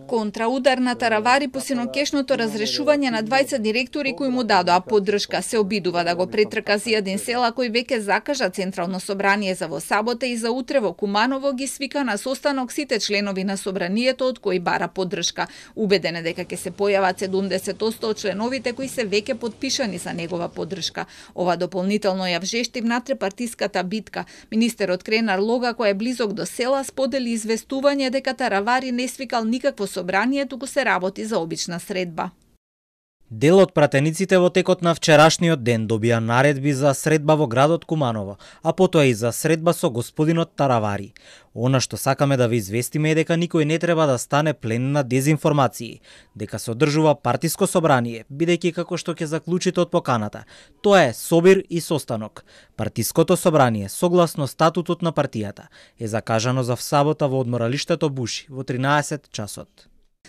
Контраудар на Таравари по синокешното разрешување на 20 директори кои му дадоа поддршка, се обидува да го претрка Зијадин Села кој веќе закажа Централно собрание за во сабота и за утре во Куманово ги свика на состанок сите членови на собранието од кои бара поддршка. Убеден е дека ќе се појават 70% од членовите кои се веќе подпишани за негова поддршка. Ова дополнително ја вжешти внатре-партиската битка. Министерот Кренар Лога, кој е близок до Села, сподели известување дека Таравари не свикал никакво собрание, туку се работи за обична средба. Дел од пратениците во текот на вчерашниот ден добија наредби за средба во градот Куманово, а потоа и за средба со господинот Таравари. Она што сакаме да ви известиме е дека никој не треба да стане плен на дезинформации, дека се одржува партиско собрание, бидејќи како што ќе заклучите од поканата, тоа е собир и состанок. Партиското собрание, согласно статутот на партијата, е закажано за сабота во одморалиштето Буши во 13 часот.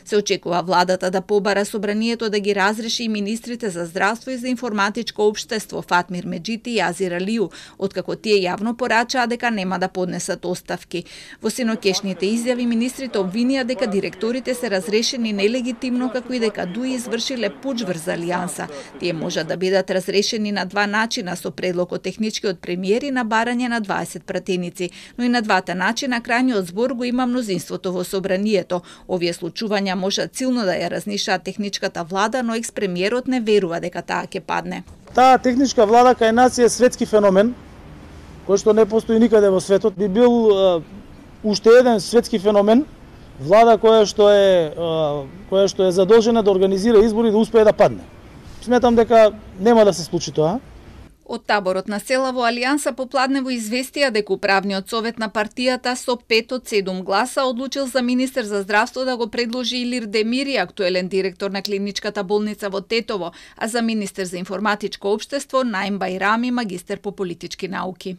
Се очекува владата да побара собранието да ги разреши и министрите за здравство и за информатичко општество Фатмир Меджити и Азир Алију, откако тие јавно порачаа дека нема да поднесат оставки. Во синокешните изјави министрите обвинија дека директорите се разрешени нелегитимно, како и дека ДУИ извршиле пуч врз Алијанса. Тие можат да бидат разрешени на два начина, со предлог од техничкиот премиер и на барање на 20 пратеници, но и на двата начина крајниот збор го има мнозинството во собранието. Овие случувања можат силно да ја разнишаат техничката влада, но екс-премиерот не верува дека таа ќе падне. Таа техничка влада кај нас е светски феномен, кој што не постои никаде во светот. Би бил уште еден светски феномен, влада која што е задолжена да организира избори да успее да падне. Сметам дека нема да се случи тоа. Од таборот на Села во Алијанса попладнево известија дека управниот совет на партијата со 5 од 7 гласа одлучил за министер за здравство да го предложи Илир Демири, актуелен директор на клиничката болница во Тетово, а за министер за информатичко општество Наим Бајрами, магистер по политички науки.